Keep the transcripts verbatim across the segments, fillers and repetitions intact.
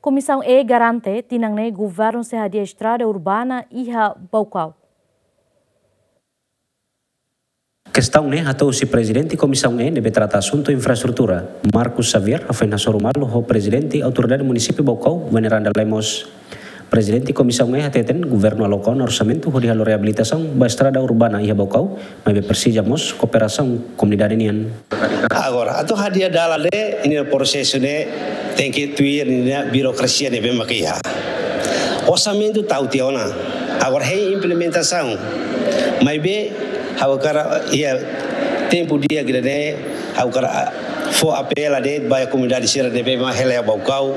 Komisaun E garante tinan ne'e governu sei hadi'a estrada urbana iha Baucau. Kestaun ne'e hato'o husi Prezidente Komisaun E ne'ebé trata asuntu infraestrutura, Marcos Xavier, hafoin hasoru malu ho Prezidente Autoridade Munisípiu Baucau, Veneranda Lemos. Prezidente Komisaun E hateten, governu aloka ona orsamentu hodi halo reabilitasaun ba estrada urbana iha Baucau, maibé presiza mós kooperasaun komunidade nian. Agora, atu hadi'a dalan ne'e, nia prosesu ne'e tenke tuir nia birokrasia ne'ebé mak iha. Orsamentu tau tiha ona. Agora, hein implementasaun. Maibé, ha'u hakarak iha tempu di'ak ida-ne'e, ha'u hakarak, ah, fó apela de'it ba komunidade sira ne'ebé mak hela iha Baucau.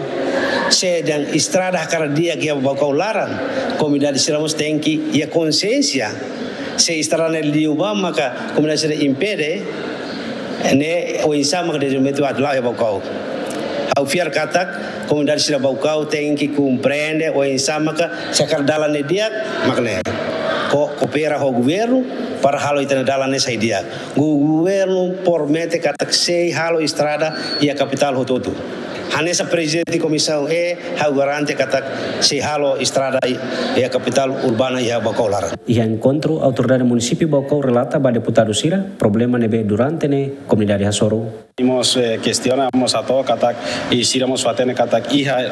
Se dehan estrada hakarak di'ak iha Baucau laran, komunidade sira mós tenke iha konsiénsia. Se estrada ne'e liu ba maka komunidade sira impede, ne'e oinsá maka dezenvolvimentu atu la'o iha Baucau. Ha'u fiar katak komunidade sira Baucau tenke komprende oinsá maka se hakarak dalan ne'e di'ak, mak ne'e. Ko-, koopera ho governu para halo ita-nia dalan ne'e sai di'ak. Gu-, governu promete katak sei halo estrada iha kapitál hotu-hotu. Hanesan Prezidente Komisaun E, ha'u garante katak sei halo estrada iha kapitál urbana iha Baucau laran. Iha enkontru, Autoridade Munisípiu Baucau relata ba deputadu sira problema ne'ebé durante ne'e komunidade hasoru. Mós, eh, kestiona mós hato'o katak, i sira mós fó-hatene katak iha,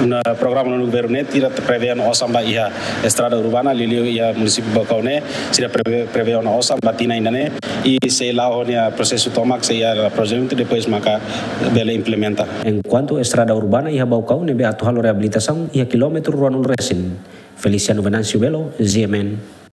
na programa nonu governu ne'e sira prevee ona osan ba iha estrada urbana, liuliu iha Munisípiu Baucau ne'e, sira prevee, prevee ona osan ba tinan ida-ne'e, i sei la'o ho nia prosesu tomak, sei iha projetu, depois maka bele implementa. Enkuantu estrada urbana iha Baucau ne'ebé atu halo reabilitasaun iha kilómetru ruanulu resin. Feliciano Venâncio Belo, G M N.